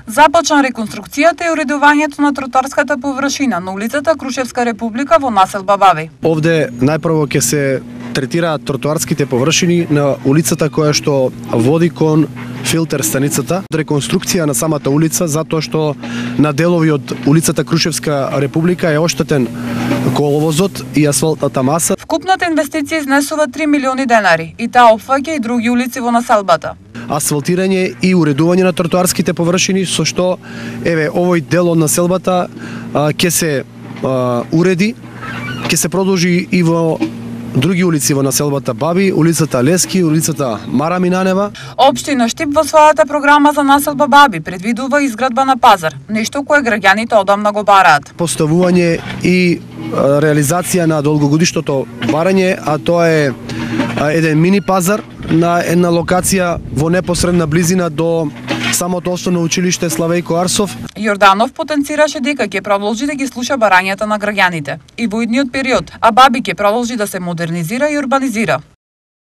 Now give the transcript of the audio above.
Започна реконструкцијата и уредувањето на тротоарската површина на улицата Крушевска република во населба Баби. Овде најпрво ќе се третираат тротоарските површини на улицата која што води кон филтер станицата. Реконструкција на самата улица затоа што на делови од улицата Крушевска република е оштетен коловозот и асфалтната маса. Вкупната инвестиција изнесува 3 милиони денари и таа опфаќа и други улици во населбата. Асфалтирање и уредување на тротоарските површини со што овој дел од населбата ќе се уреди, ќе се продолжи и во други улици во населбата Баби, улицата Лески, улицата Мара Минанева. Општина Штип во својата програма за населба Баби предвидува изградба на пазар, нешто кое граѓаните одамна го бараат. Поставување и реализација на долгогодишното барање, а тоа е еден мини пазар на една локација во непосредна близина до самото основно училиште Славејко Арсов. Јорданов потенцираше дека ќе продолжи да ги слуша барањата на граѓаните и во идниот период, а Баби ќе продолжи да се модернизира и урбанизира.